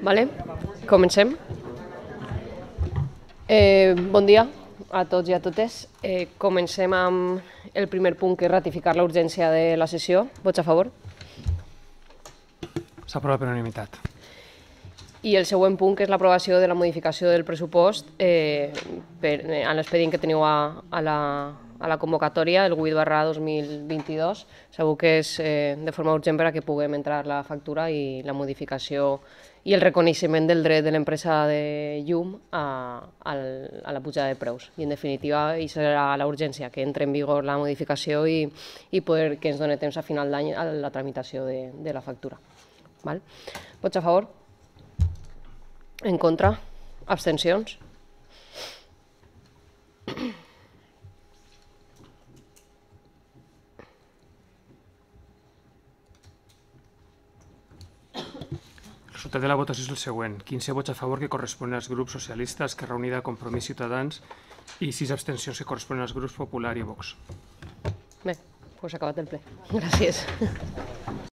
Vale, comencem. Bon dia a tots i a totes. Comencem amb el primer punt, que és ratificar la urgència de la sessió. Vots a favor? S'aprova per unanimitat. I el següent punt, que és l'aprovació de la modificació del pressupost en l'expedient que teniu a la convocatòria, el 8/2022. Segur que és de forma urgent per a que puguem entrar la factura i la modificació i el reconeixement del dret de l'empresa de llum a la pujada de preus. I, en definitiva, hi serà la urgència, que entre en vigor la modificació i poder que ens doni temps a final d'any a la tramitació de la factura. Vots a favor? En contra? Abstencions? El resultat de la votació és el següent. 15 vots a favor, que corresponen als grups socialistes, Esquerra Unida, Compromís, Ciutadans, i 6 abstencions, que corresponen als grups Popular i Vox. Bé, doncs acabat el ple. Gràcies.